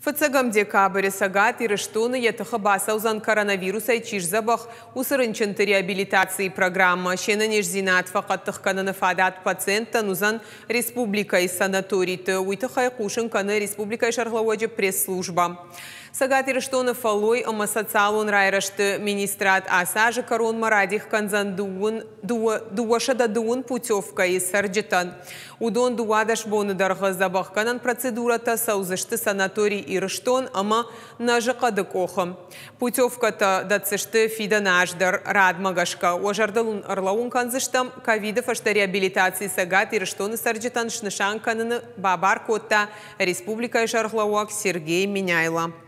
Фыццӕгӕм декабры Цӕгат Ирыстоны йӕ тыхы бацӕудзӕн коронавирусӕй чи сдзӕбӕх, уыцы рынчынты реабилитацийы программӕ. Се нӕниздзинад фӕхъӕддых кӕныны фадат пациенттӕн уыдзӕн республикӕйы санаториты. Уый тыххӕй хъусын кӕны республикӕйы сӕргълӕууӕджы пресс-службӕ. Цӕгат Ирыстоны фӕллой ӕмӕ социалон райрӕзты министрад ацы азы кӕронмӕ радих кӕндзӕн 230 путевкӕйы цӕрджытӕн. Уыдон 12 боны дӕргъы дзӕбӕхгӕнӕн процедурӕтӕ цӕудзысты санаторий Ирыстон ӕмӕ Нӕзыхъӕды къохы. Путевкӕтӕ дӕтдзысты фидӕны аз дӕр радмӕ гӕсгӕ. Уӕ зӕрдыл уын ӕрлӕууын кӕндзыстӕм, ковиды фӕстӕ реабилитаци Цӕгат Ирыстоны цӕрджытӕн снысан кӕныны бабар кодта республикӕйы сӕргълӕууӕг Сергей Меняйло.